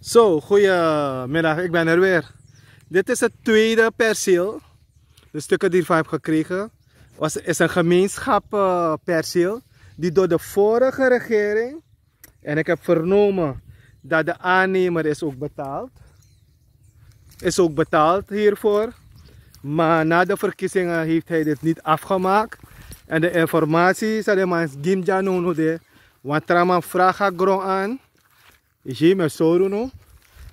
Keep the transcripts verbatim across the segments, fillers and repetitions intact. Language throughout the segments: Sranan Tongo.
Zo, goedemiddag, ik ben er weer. Dit is het tweede perceel. De stukken die ik van heb gekregen, was, is een gemeenschapsperceel die door de vorige regering, en ik heb vernomen dat de aannemer is ook betaald, is ook betaald hiervoor. Maar na de verkiezingen heeft hij dit niet afgemaakt. En de informatie, zei de man, Gimja no no de. Want Traman vraag haar grond aan. Is hier met Soruno.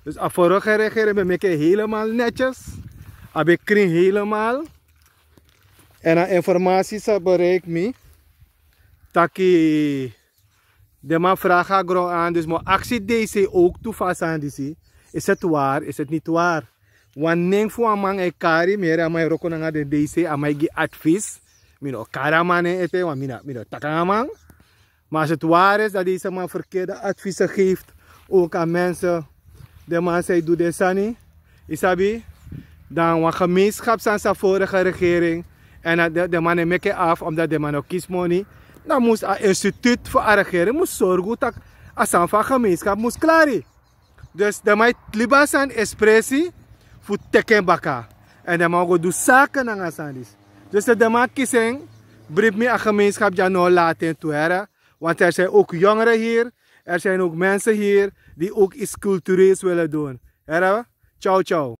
Dus a vorige regering ben meke helemaal netjes. A ben kring helemaal. En a informatie sa bereik mi. Taki de man vraag a grond aan, dus mo aksi D C ook tu fasa aan disi. Is het waar, is het niet waar? Wan nen fu a man e kari, mere a man e roko nanga de D C, a man e gi advies. Mi no kari a man en ete, wan mi no, mi no taki a man. Maar als het waar is dat deze man verkeerde adviezen geeft, ook aan mensen, de man zei doe de sani, isabi, dan wan gemeenschap san sa vorige regering, en dat de, de man e meke af, omdat de man no kisi moni, dan moest a instituut voor a regering moest zorgen dat a san van gemeenschap moest klari. Dus de man e libi a sani expressie fu teken baka. En de man go du zaken nanga sani disi. Dus de man kisi en, bribi mi a gemeenschap dya no laten tu here. Want er zijn ook jongeren hier. Er zijn ook mensen hier die ook iets cultureels willen doen. Here, ciao ciao.